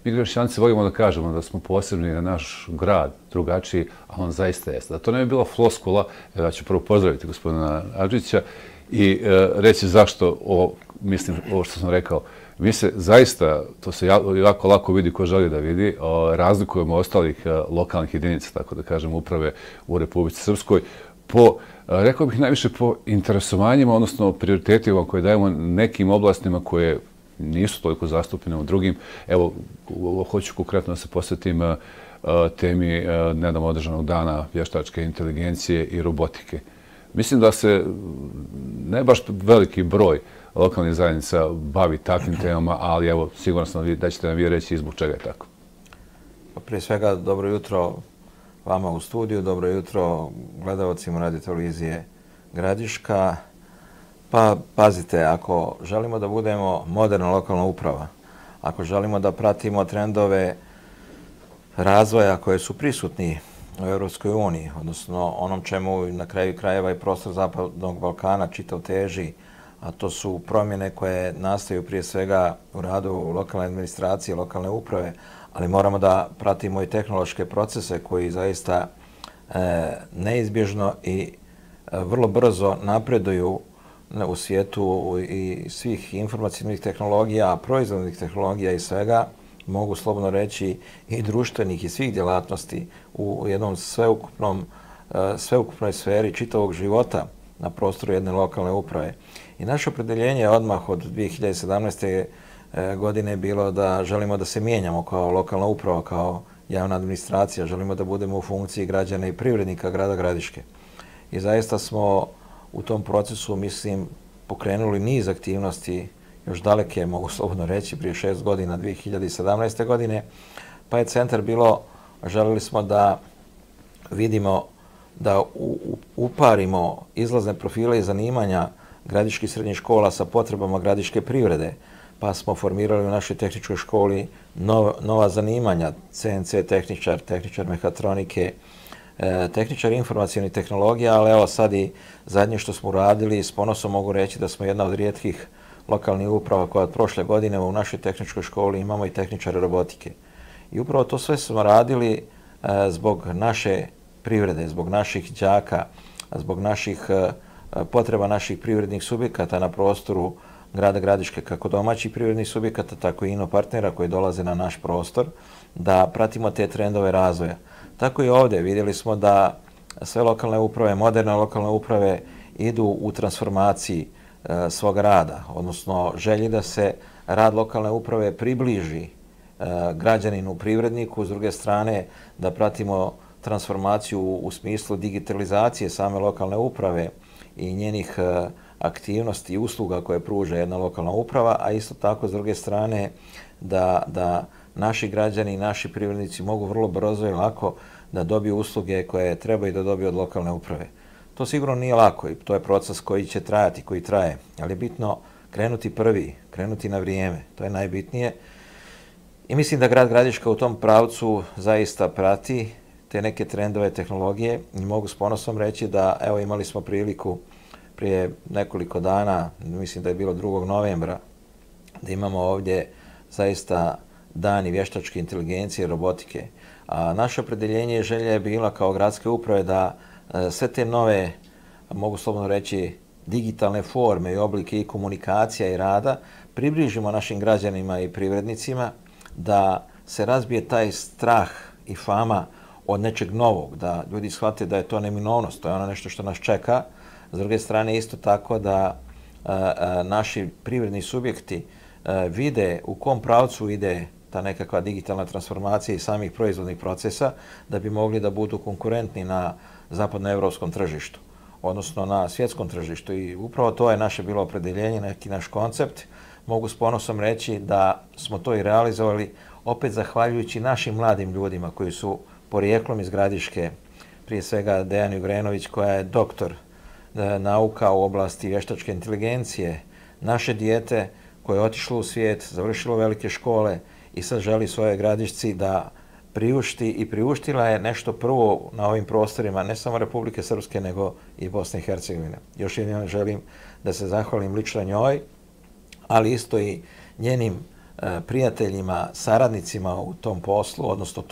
Mi Gradišćanci volimo da kažemo da smo posebni na naš grad, drugačiji, a on zaista jeste. Da to ne bi bila floskula, ja ću prvo pozdraviti gospodina Adžića i reći zašto, mislim, ovo što sam rekao, mi se zaista, to se jako lako vidi ko želi da vidi, razlikujemo ostalih lokalnih jedinica, tako da kažem, uprave u Republici Srpskoj, rekao bih najviše po interesovanjima, odnosno prioritetima koje dajemo nekim oblastima koje nisu toliko zastupljene u drugim. Evo, hoću konkretno da se posvetim temi nedavno održanog dana vještačke inteligencije i robotike. Mislim da se ne baš veliki broj lokalnih zajednica bavi takvim temama, ali evo, siguran sam da ćete nam vi reći zbog čega je tako. Prije svega, dobro jutro vama u studiju, dobro jutro gledalcima Radio televizije Gradiška. Pa pazite, ako želimo da budemo moderna lokalna uprava, ako želimo da pratimo trendove razvoja koje su prisutni u Europskoj uniji, odnosno onom čemu na kraju krajeva i prostor Zapadnog Balkana čitav teži, a to su promjene koje nastaju prije svega u radu lokalne administracije, lokalne uprave, ali moramo da pratimo i tehnološke procese koji zaista neizbježno i vrlo brzo napreduju u svijetu i svih informacijnih tehnologija, proizvodnih tehnologija i svega, mogu slobodno reći i društvenih i svih djelatnosti u jednom sveukupnoj sferi čitavog života na prostoru jedne lokalne uprave. I naše opredeljenje je odmah od 2017. godine bilo da želimo da se mijenjamo kao lokalna uprava, kao javna administracija, želimo da budemo u funkciji građana i privrednika grada Gradiške. I zaista smo u tom procesu, mislim, pokrenuli niz aktivnosti, još daleke, mogu slobodno reći, prije 6 godina, 2017. godine, pa je centar bilo, želeli smo da vidimo, da uparimo izlazne profile i zanimanja gradiških srednjih škola sa potrebama gradiške privrede, pa smo formirali u našoj tehničkoj školi nova zanimanja, CNC tehničar, tehničar mehatronike, tehničar informacijonih tehnologija, ali evo sad i zadnje što smo uradili, s ponosom mogu reći da smo jedna od rijetkih lokalnih uprava koja od prošle godine u našoj tehničkoj školi imamo i tehničare robotike. I upravo to sve smo radili zbog naše privrede, zbog naših đaka, zbog naših potreba naših privrednih subjekata na prostoru grada Gradiške, kako domaćih privrednih subjekata, tako i inopartnera koji dolaze na naš prostor, da pratimo te trendove razvoja. Tako i ovdje vidjeli smo da sve lokalne uprave, moderne lokalne uprave idu u transformaciji svog rada, odnosno želji da se rad lokalne uprave približi građaninu, privredniku, s druge strane da pratimo transformaciju u smislu digitalizacije same lokalne uprave i njenih aktivnosti i usluga koje pruža jedna lokalna uprava, a isto tako s druge strane da naši građani i naši privrednici mogu vrlo brzo i lako da dobiju usluge koje trebaju da dobiju od lokalne uprave. To sigurno nije lako i to je proces koji će trajati, koji traje, ali je bitno krenuti prvi, krenuti na vrijeme, to je najbitnije. I mislim da grad Gradiška u tom pravcu zaista prati te neke trendove tehnologije i mogu s ponosom reći da evo imali smo priliku prije nekoliko dana, mislim da je bilo 2. novembra, da imamo ovdje zaista dani vještačke inteligencije i robotike. A naše opredeljenje i želja je bila kao gradske uprave da sve te nove, mogu slobodno reći, digitalne forme i oblike i komunikacija i rada približimo našim građanima i privrednicima, da se razbije taj strah i fama od nečeg novog, da ljudi shvate da je to neminovnost, to je ono nešto što nas čeka. S druge strane, isto tako da naši privredni subjekti vide u kom pravcu ide ta nekakva digitalna transformacija i samih proizvodnih procesa, da bi mogli da budu konkurentni na zapadnoevropskom tržištu, odnosno na svjetskom tržištu. I upravo to je naše bilo opredeljenje, neki naš koncept. Mogu s ponosom reći da smo to i realizovali, opet zahvaljujući našim mladim ljudima koji su porijeklom iz Gradiške, prije svega Dejan Jugrenović koja je doktor nauka u oblasti vještačke inteligencije, naše dijete koje je otišlo u svijet, završilo velike škole i sad želi svoje Gradišci da priušti i priuštila je nešto prvo na ovim prostorima, ne samo Republike Srpske, nego i Bosne i Hercegovine. Još jednom želim da se zahvalim lično njoj, ali isto i njenim prijateljima, saradnicima u tom poslu, odnosno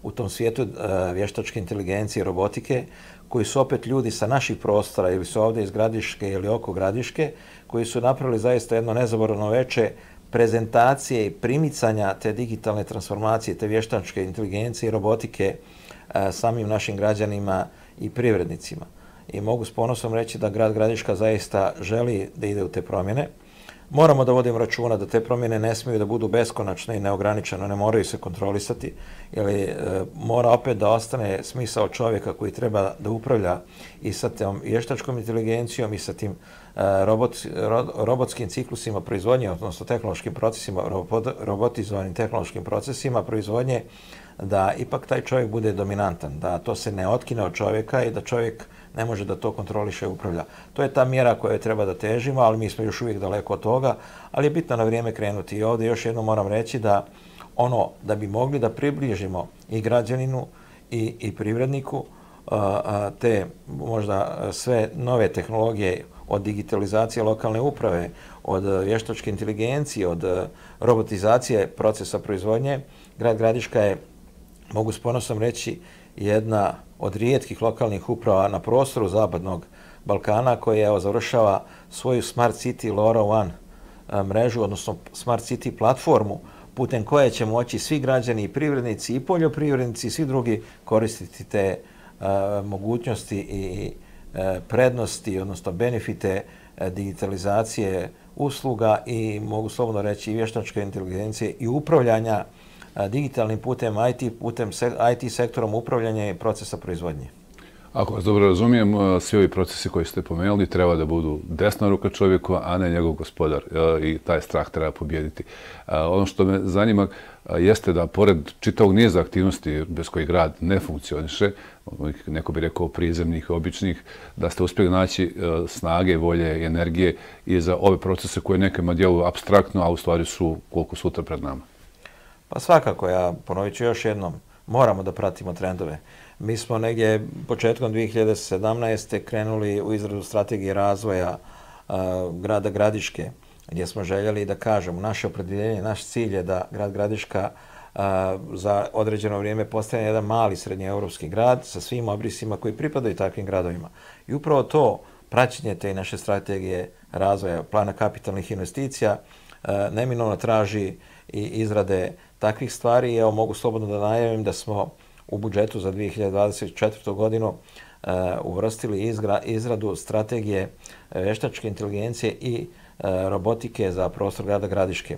u tom svijetu vještačke inteligencije i robotike, koji su opet ljudi sa naših prostora ili su ovdje iz Gradiške ili oko Gradiške, koji su napravili zaista jedno nezaboravno veče prezentacije i primicanja te digitalne transformacije, te vještačke inteligencije i robotike samim našim građanima i privrednicima. I mogu s ponosom reći da grad Gradiška zaista želi da ide u te promjene. Moramo da vodimo računa da te promjene ne smiju da budu beskonačne i neograničene, ne moraju se kontrolisati, jer mora opet da ostane smisao čovjeka koji treba da upravlja i sa tom vještačkom inteligencijom i sa tim robotskim ciklusima proizvodnje, odnosno tehnološkim procesima, robotizovanim tehnološkim procesima proizvodnje, da ipak taj čovjek bude dominantan, da to se ne otkine od čovjeka i da čovjek ne može da to kontroliše i upravlja. To je ta mjera koju treba da težimo, ali mi smo još uvijek daleko od toga, ali je bitno na vrijeme krenuti. I ovdje još jednom moram reći da da bi mogli da približimo i građaninu i privredniku te možda sve nove tehnologije od digitalizacije lokalne uprave, od vještačke inteligencije, od robotizacije procesa proizvodnje, grad Gradiška je, mogu s ponosom reći, jedna od rijetkih lokalnih uprava na prostoru Zapadnog Balkana koja završava svoju Smart City LoRa One mrežu, odnosno Smart City platformu putem koje će moći svi građani i privrednici i poljoprivrednici i svi drugi koristiti te mogućnosti i prednosti, odnosno benefite digitalizacije usluga i mogu slobodno reći i vještačke inteligencije i upravljanja digitalnim putem, IT sektorom upravljanja i procesa proizvodnje. Ako vas dobro razumijem, svi ovi procesi koji ste pomenuli treba da budu desna ruka čovjeku, a ne njegov gospodar. I taj strah treba pobijediti. Ono što me zanima jeste da pored čitavog niza aktivnosti bez kojih grad ne funkcioniše, neko bi rekao prizemnih, običnih, da ste uspjeli naći snage, volje i energije i za ove procese koje nekima djeluju apstraktno, a u stvari su koliko sutra pred nama. Pa svakako, ja ponovit ću još jednom, moramo da pratimo trendove. Mi smo negdje početkom 2017. krenuli u izradu strategije razvoja grada Gradiške, gdje smo željeli da kažemo naše opredjeljenje, naš cilj je da grad Gradiška za određeno vrijeme postane jedan mali srednjeevropski grad sa svim obrisima koji pripadaju takvim gradovima. I upravo to praćenje te naše strategije razvoja, plana kapitalnih investicija, neminovno traži i izrade takvih stvari. Evo, mogu slobodno da najavim da smo u budžetu za 2024. godinu uvrstili izradu strategije vještačke inteligencije i robotike za prostor grada Gradiške.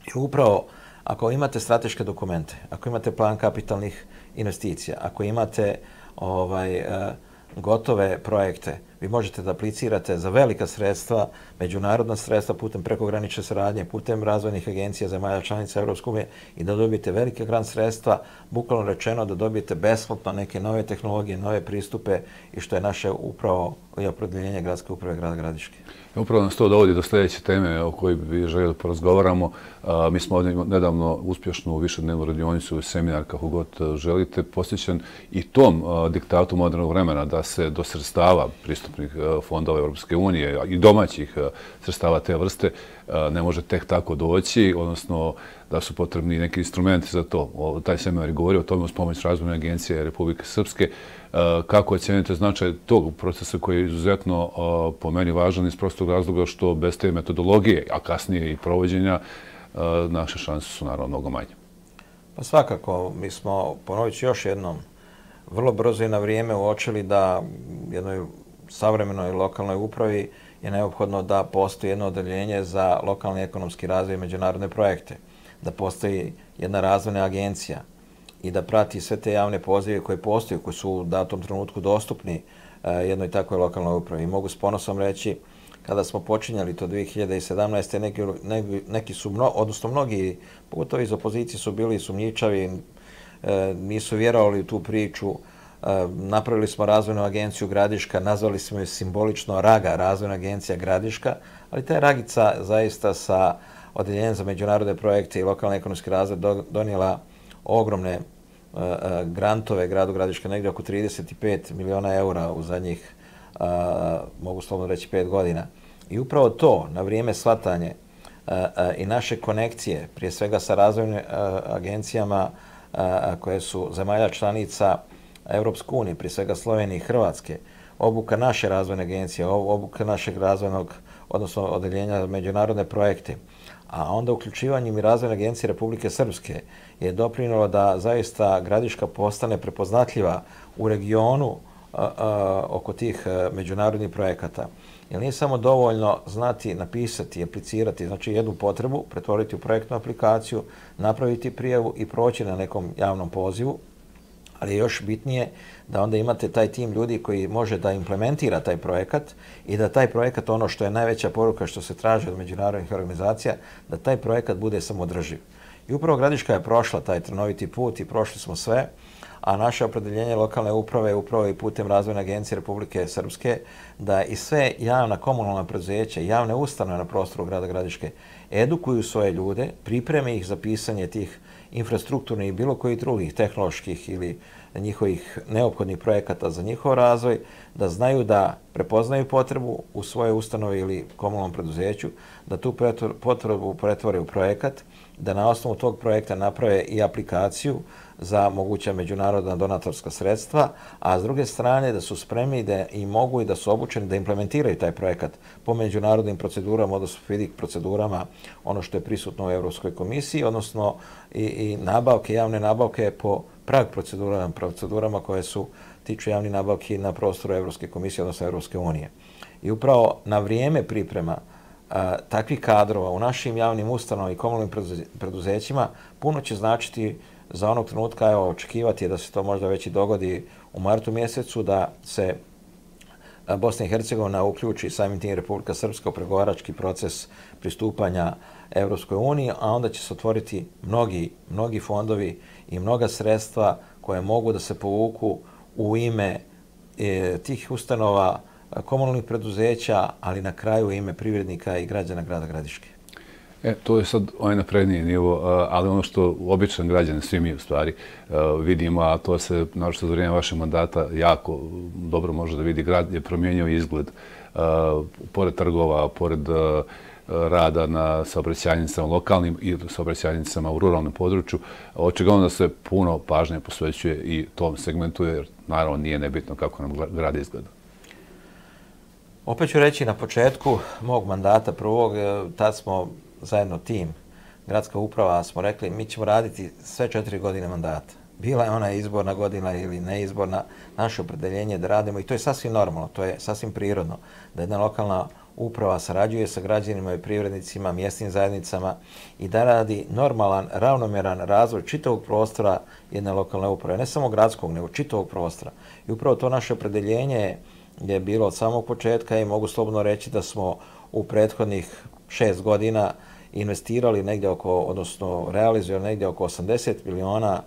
I upravo, ako imate strateške dokumente, ako imate plan kapitalnih investicija, ako imate gotove projekte, vi možete da aplicirate za velika sredstva, međunarodna sredstva putem prekogranične saradnje, putem razvojnih agencija zemalja članica Evropske unije i da dobijete velike grant sredstva, bukvalno rečeno da dobijete besplatno neke nove tehnologije, nove pristupe i što je naše upravo opredjeljenje gradske uprave grada Gradiške. Upravo nas to dovodi do sljedeće teme o kojoj bi željeli da porazgovaramo. Mi smo ovdje nedavno uspješnu višednevnu radionicu, seminar, kako god želite, posjećen i tom diktatu modernog vremena da se do sredstava pristupnih fondova Europske unije i domaćih sredstava te vrste ne može tek tako doći, odnosno da su potrebni neki instrumenti za to. Taj seminar je govorio o tome uz pomoć Razvojne agencije Republike Srpske. Kako ocjenjujete značaj tog procesa koji je izuzetno po meni važan iz prostog razloga što bez te metodologije, a kasnije i provođenja, naše šanse su naravno mnogo manje. Pa svakako, mi smo, ponovit ću još jednom, vrlo brzo i na vrijeme uočili da jednoj savremenoj lokalnoj upravi je neophodno da postoji jedno odeljenje za lokalni ekonomski razvoj i međunarodne projekte, da postoji jedna razvojna agencija i da prati sve te javne pozive koje postoje, koji su u datom trenutku dostupni jednoj takvoj lokalnoj upravi. I mogu s ponosom reći, kada smo počinjali to 2017. neki su, odnosno mnogi, pogotovo iz opozicije, su bili sumnjičavi, nisu vjerovali u tu priču. Napravili smo razvojnu agenciju Gradiška, nazvali smo je simbolično RAGA, razvojna agencija Gradiška, ali ta Ragica zaista sa odeljenjem za međunarodne projekte i lokalni ekonomski razvoj donijela ogromne grantove gradu Gradiška, negdje oko 35 miliona eura u zadnjih, mogu slobodno reći, 5 godina. I upravo to, na vrijeme shvatanje i naše konekcije, prije svega sa razvojnim agencijama koje su zemalja članica Europske unije, prije svega Slovenije i Hrvatske, obuka naše razvojne agencije, obuka našeg razvojnog, odnosno odeljenja za međunarodne projekte, a onda uključivanjem i razvojne agencije Republike Srpske je doprinjelo da zaista Gradiška postane prepoznatljiva u regionu oko tih međunarodnih projekata. Jer nije samo dovoljno znati, napisati, aplicirati, znači jednu potrebu, pretvoriti u projektnu aplikaciju, napraviti prijavu i proći na nekom javnom pozivu, ali je još bitnije da onda imate taj tim ljudi koji može da implementira taj projekat i da taj projekat, ono što je najveća poruka što se traži od međunarodnih organizacija, da taj projekat bude samodrživ. I upravo Gradiška je prošla taj trnoviti put i prošli smo sve, a naše opredeljenje lokalne uprave je upravo i putem Razvojne agencije Republike Srpske da i sve javna komunalna preduzeća, javne ustanove na prostoru grada Gradiške edukuju svoje ljude, pripreme ih za pisanje tih infrastrukturnih i bilo kojih drugih tehnoloških ili njihovih neophodnih projekata za njihov razvoj, da znaju da prepoznaju potrebu u svoje ustanove ili komunalnom preduzeću, da tu potrebu pretvore u projekat, da na osnovu tog projekta naprave i aplikaciju za moguća međunarodna donatorska sredstva, a s druge strane da su spremni da i mogu i da su obučeni da implementiraju taj projekat po međunarodnim procedurama, odnosno FIDIC procedurama, ono što je prisutno u Evropskoj komisiji, odnosno i nabavke, javne nabavke po prag procedurama koje su tiču javnih nabavki na prostoru Evropske komisije, odnosno Evropske unije. I upravo na vrijeme priprema takvih kadrova u našim javnim ustanovama i komunalnim preduzećima puno će značiti za onog trenutka, evo, očekivati je da se to možda već i dogodi u martu mjesecu, da se Bosna i Hercegovina uključi samim tim Republika Srpska u pregovarački proces pristupanja Evropskoj uniji, a onda će se otvoriti mnogi fondovi i mnoga sredstva koje mogu da se povuku u ime tih ustanova, komunalnih preduzeća, ali na kraju u ime privrednika i građana grada Gradiške. To je sad onaj napredniji nivo, ali ono što običan građan, svi mi u stvari vidimo, a to se, naročito za vrijeme vašeg mandata, jako dobro može da vidi, grad je promijenio izgled. Pored trgova, pored rada na saobraćajnicama lokalnim i saobraćajnicama u ruralnom području, očigledno da se puno pažnje posvećuje i tom segmentu, jer naravno nije nebitno kako nam grad izgleda. Opet ću reći na početku mog mandata prvog, tad smo zajedno tim, gradska uprava, smo rekli mi ćemo raditi sve 4 godine mandata. Bila je ona izborna godina ili neizborna, naše opredeljenje da radimo i to je sasvim normalno, to je sasvim prirodno, da jedna lokalna uprava sarađuje sa građanima i privrednicima, mjesnim zajednicama i da radi normalan, ravnomjeran razvoj čitavog prostora jedne lokalne uprave, ne samo gradskog, nego čitavog prostora. I upravo to naše opredeljenje je bilo od samog početka i mogu slobodno reći da smo u prethodnih 6 godina investirali negdje oko, odnosno realizirali negdje oko 80 miliona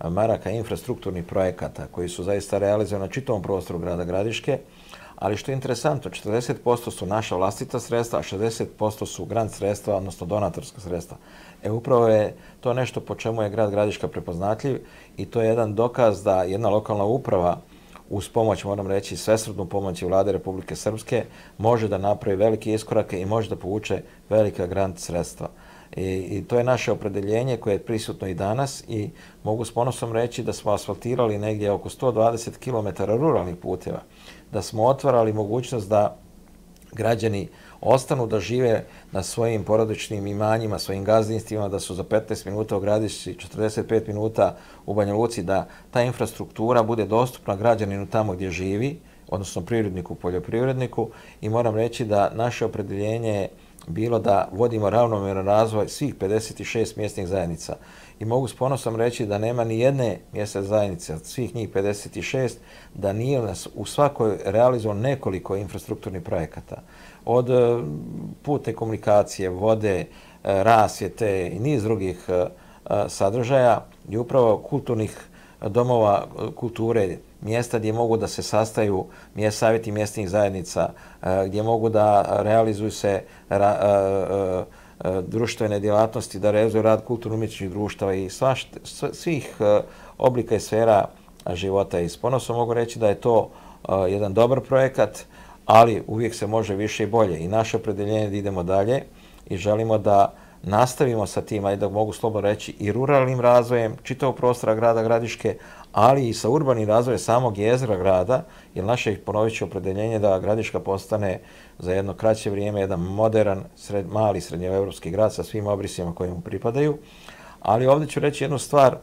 maraka infrastrukturnih projekata koji su zaista realizovani na čitavom prostoru grada Gradiške, ali što je interesantno, 40% su naša vlastita sredstva, a 60% su grant sredstva, odnosno donatorska sredstva. Upravo je to nešto po čemu je grad Gradiška prepoznatljiv i to je jedan dokaz da jedna lokalna uprava uz pomoć, moram reći, svesrdnu pomoć Vlade Republike Srpske može da napravi velike iskorake i može da povuče velika grant sredstva. I to je naše opredeljenje koje je prisutno i danas i mogu s ponosom reći da smo asfaltirali negdje oko 120 km ruralnih puteva, da smo otvarali mogućnost da građani ostanu da žive na svojim porodičnim imanjima, svojim gazdinstvima, da su za 15 minuta u Gradišci, 45 minuta u Banja Luci, da ta infrastruktura bude dostupna građaninu tamo gdje živi, odnosno privredniku, poljoprivredniku i moram reći da naše opredeljenje je bilo da vodimo ravnomjeran razvoj svih 56 mjesnih zajednica. I mogu s ponosom reći da nema ni jedne mjesne zajednice od svih njih 56 da nije u svakoj realizovano nekoliko infrastrukturnih projekata. Od putne komunikacije, vode, rasvjete i niz drugih sadržaja i upravo kulturnih domova kulture, mjesta gdje mogu da se sastaju savjeti mjesnih zajednica, gdje mogu da realizuju se društvene djelatnosti, da realizuju rad kulturno-umjetničkih društava i svih oblika i sfera života. I s ponosom mogu reći da je to jedan dobar projekat, ali uvijek se može više i bolje. I naše opredeljenje da idemo dalje i želimo da nastavimo sa tim, ajde da mogu slobodno reći, i ruralnim razvojem čitavog prostora grada Gradiške, ali i sa urbanim razvojem samog jezgra grada, jer naše, ponovit ću, opredeljenje da Gradiška postane za jedno kraće vrijeme jedan modern, mali srednjoevropski grad sa svim obrisima koji mu pripadaju. Ali ovdje ću reći jednu stvar,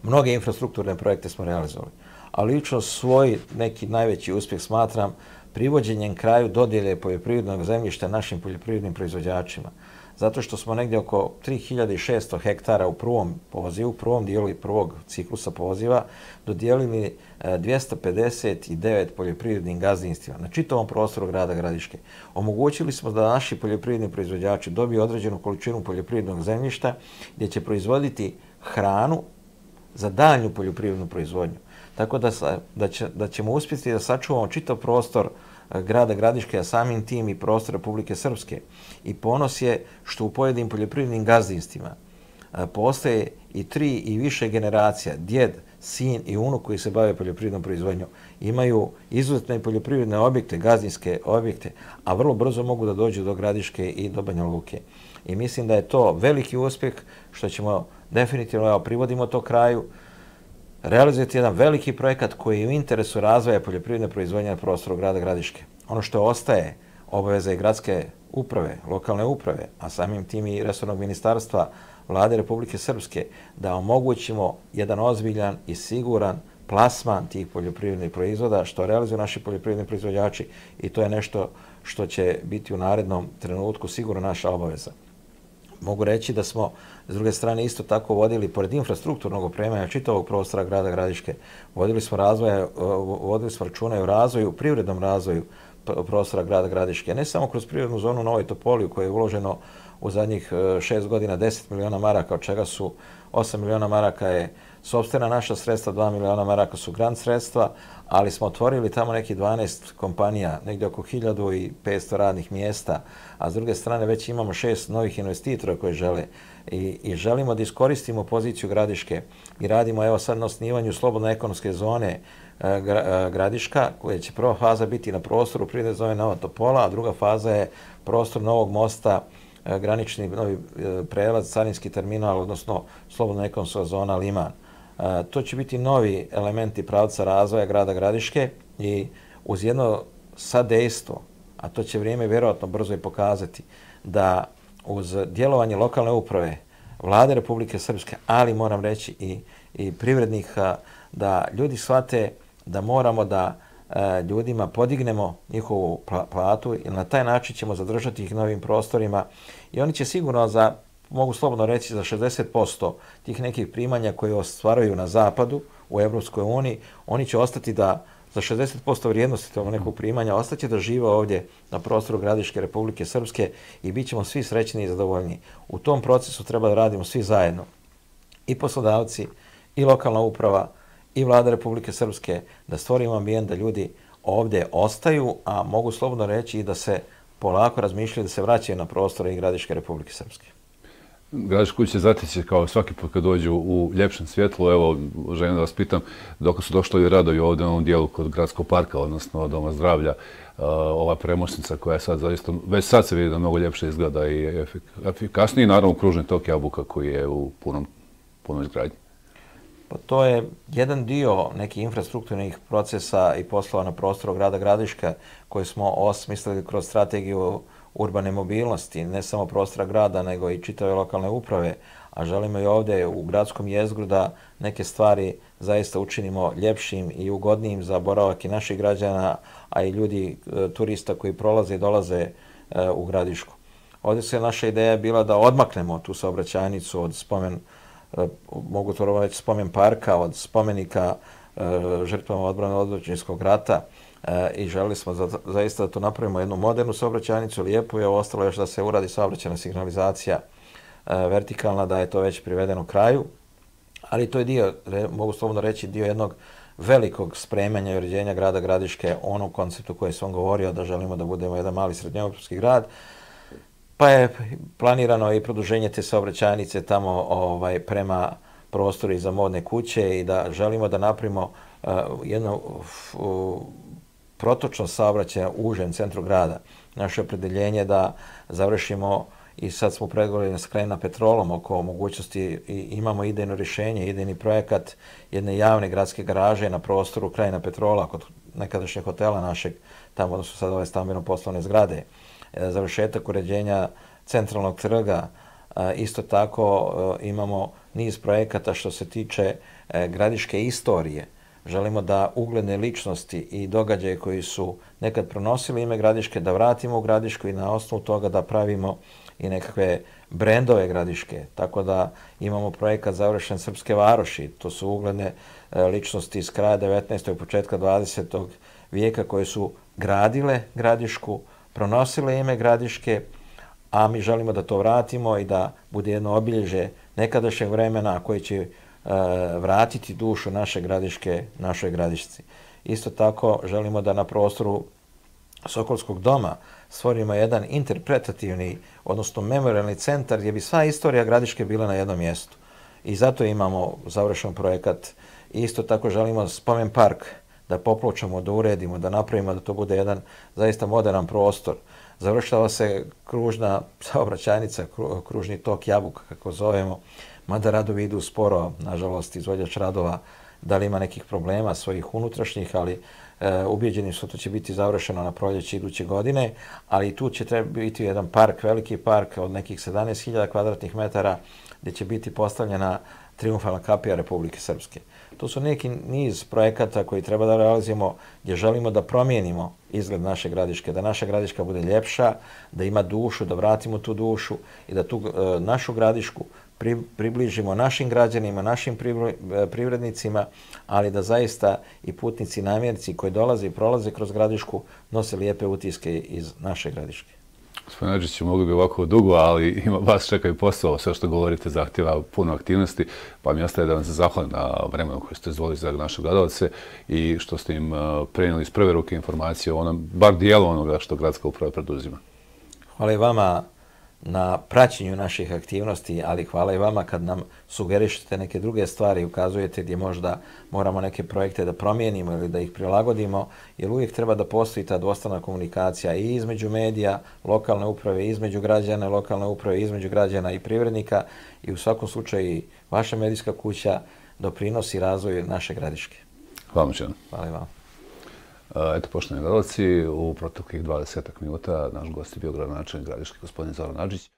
mnoge infrastrukturne projekte smo realizovali, ali lično svoj neki najveći uspjeh smatram privođenjem kraju dodjele poljoprivrednog zemljišta našim poljoprivrednim proizvođačima. Zato što smo negdje oko 3600 hektara u prvom pozivu, prvom dijelu i prvog ciklusa poziva, dodijelili 259 poljoprivrednim gazdinstvima na čitavom prostoru grada Gradiške. Omogućili smo da naši poljoprivredni proizvođači dobiju određenu količinu poljoprivrednog zemljišta gdje će proizvoditi hranu za daljnju poljoprivrednu proizvodnju. Tako da ćemo uspjeti da sačuvamo čitav prostor grada Gradiške, a samim tim i prostor Republike Srpske. I ponos je što u pojedinim poljoprivrednim gazdinstvima postoje i 3 i više generacija, djed, sin i unuk koji se bave poljoprivrednom proizvodnjom. Imaju izuzetne poljoprivredne objekte, gazdinske objekte, a vrlo brzo mogu da dođu do Gradiške i do Banja Luke. I mislim da je to veliki uspjeh što ćemo definitivno, privodimo to kraju, realizujete jedan veliki projekat koji je u interesu razvoja poljoprivredne proizvodnje na prostoru grada Gradiške. Ono što ostaje obaveza i gradske uprave, lokalne uprave, a samim tim i resornog ministarstva Vlade Republike Srpske, da omogućimo jedan ozbiljan i siguran plasman tih poljoprivrednih proizvoda što realizuju naši poljoprivredni proizvođači i to je nešto što će biti u narednom trenutku sigurno naša obaveza. Mogu reći da smo, s druge strane, isto tako vodili, pored infrastrukturnog opremanja čitavog prostora grada Gradiške, vodili smo računa o razvoju, privrednom razvoju prostora grada Gradiške, ne samo kroz privrednu zonu Novoj Topoli u kojoj je uloženo u zadnjih 6 godina 10 miliona maraka, od čega su 8 miliona maraka je sopstvena naša sredstva, 2 miliona maraka su grant sredstva, ali smo otvorili tamo neki 12 kompanija, negdje oko 1500 radnih mjesta, a s druge strane već imamo 6 novih investitora koji žele i želimo da iskoristimo poziciju Gradiške i radimo evo sad na osnivanju slobodne ekonomske zone Gradiška, koja će prva faza biti na prostoru privredne zone Nova Topola, a druga faza je prostor Novog mosta, granični novi prelaz, carinski terminal, odnosno slobodna ekonomska zona Liman. To će biti novi elementi pravca razvoja grada Gradiške i uz jedno sadejstvo, a to će vrijeme vjerojatno brzo i pokazati, da uz djelovanje lokalne uprave, Vlade Republike Srpske, ali moram reći i privrednika, da ljudi shvate da moramo da ljudima podignemo njihovu platu i na taj način ćemo zadržati ih na ovim prostorima i oni će sigurno mogu slobodno reći, za 60% tih nekih primanja koje ostvaruju na zapadu u Evropskoj uniji, oni će ostati da za 60% vrijednosti tog nekog primanja ostaće da žive ovdje na prostoru Gradiške Republike Srpske i bit ćemo svi srećni i zadovoljni. U tom procesu treba da radimo svi zajedno. I poslodavci, i lokalna uprava, i Vlada Republike Srpske, da stvorimo ambijent da ljudi ovdje ostaju, a mogu slobodno reći i da se polako razmišljaju da se vraćaju na prostore i Gradiške Republike Srpske. Gradišku kuće zateći kao svaki put kad dođu u ljepšem svjetlu. Evo, želim da vas pitam, dok su došli radovi ovdje na ovom dijelu kod Gradskog parka, odnosno Doma zdravlja, ova premošnica koja je sad zaista, već sad se vidi da mnogo ljepše izgleda i efikasniji, naravno kružni tok Jabuka koji je u punoj izgradnji. Pa to je jedan dio nekih infrastrukturnih procesa i poslova na prostoru grada Gradiška koje smo osmislili kroz strategiju urbane mobilnosti, ne samo prostora grada, nego i čitave lokalne uprave, a želimo i ovdje u gradskom jezgru da neke stvari zaista učinimo ljepšim i ugodnijim za boravak i naših građana, a i ljudi, turista koji prolaze i dolaze u Gradišku. Ovdje se naša ideja bila da odmaknemo tu saobraćajnicu od mogu to reći spomen parka, od spomenika žrtvama odbrane od Otadžbinskog rata, i želili smo zaista da to napravimo jednu modernu saobraćajnicu, lijepu je, ostalo još da se uradi saobraćajna signalizacija vertikalna, da je to već privedeno kraju, ali to je dio, mogu slobodno reći, dio jednog velikog spremanja i uređenja grada Gradiške, onom konceptu koji sam govorio da želimo da budemo jedan mali srednjoevropski grad, pa je planirano i produženje te saobraćajnice tamo prema prostoru iza modne kuće i da želimo da napravimo jednu protočnost saobraćaja u užem centru grada. Naše opredeljenje je da završimo, i sad smo pregovorili s Krajina Petrolom oko mogućnosti, i imamo idejno rješenje, idejni projekat jedne javne gradske garaže na prostoru Krajina Petrola, kod nekadašnjeg hotela našeg, tamo odnosno sad ove stambeno-poslovne zgrade. Završetak uređenja centralnog trga. Isto tako imamo niz projekata što se tiče gradiške istorije. Želimo da ugledne ličnosti i događaje koji su nekad pronosili ime Gradiške, da vratimo u Gradišku i na osnovu toga da pravimo i nekakve brendove Gradiške. Tako da imamo projekat završen Srpske varoši. To su ugledne ličnosti iz kraja 19. i početka 20. vijeka koje su gradile Gradišku, pronosile ime Gradiške, a mi želimo da to vratimo i da bude jedno obilježje nekadašnjeg vremena koji će vratiti dušu naše Gradiške, našoj Gradišci. Isto tako želimo da na prostoru Sokolskog doma stvorimo jedan interpretativni, odnosno memorialni centar gdje bi sva istorija Gradiške bila na jednom mjestu. I zato imamo završen projekat. Isto tako želimo spomen park da popločamo, da uredimo, da napravimo da to bude jedan zaista modern prostor. Završava se kružna saobraćajnica, kružni tok Jabuka, kako zovemo, mada radovi idu sporo, nažalost, izvođač radova da li ima nekih problema svojih unutrašnjih, ali ubijeđeni su to će biti završeno na proljeće iduće godine, ali tu će treba biti jedan park, veliki park od nekih 17.000 kvadratnih metara gdje će biti postavljena triumfalna kapija Republike Srpske. To su neki niz projekata koji treba da realizujemo gdje želimo da promijenimo izgled naše Gradiške, da naša Gradiška bude ljepša, da ima dušu, da vratimo tu dušu i da tu našu Gradišku približimo našim građanima, našim privrednicima, ali da zaista i putnici i namjernici koji dolaze i prolaze kroz Gradišku nose lijepe utiske iz naše Gradiške. Gospodin Adžić, mogli bi ovako dugo, ali vas čeka i posao. Sve što govorite zahtjeva puno aktivnosti, pa mi ostaje da vam se zahvalim na vremenu koje ste izdvojili za naše gledalce i što ste im prenijeli iz prve ruke informacije o onom, bar dijelu onoga što gradska uprava preduzima. Hvala i vama na praćenju naših aktivnosti, ali hvala i vama kad nam sugerišete neke druge stvari i ukazujete gdje možda moramo neke projekte da promijenimo ili da ih prilagodimo, jer uvijek treba da postoji ta dvostrana komunikacija i između medija, lokalne uprave, između građana, lokalne uprave, između građana i privrednika i u svakom slučaju vaša medijska kuća doprinosi razvoju naše Gradiške. Hvala vam. Hvala i vama. Eto, poštovani gledalci, u proteklih 20 minuta naš gost je bio gradonačelnik Gradiške, gospodin Zoran Adžić.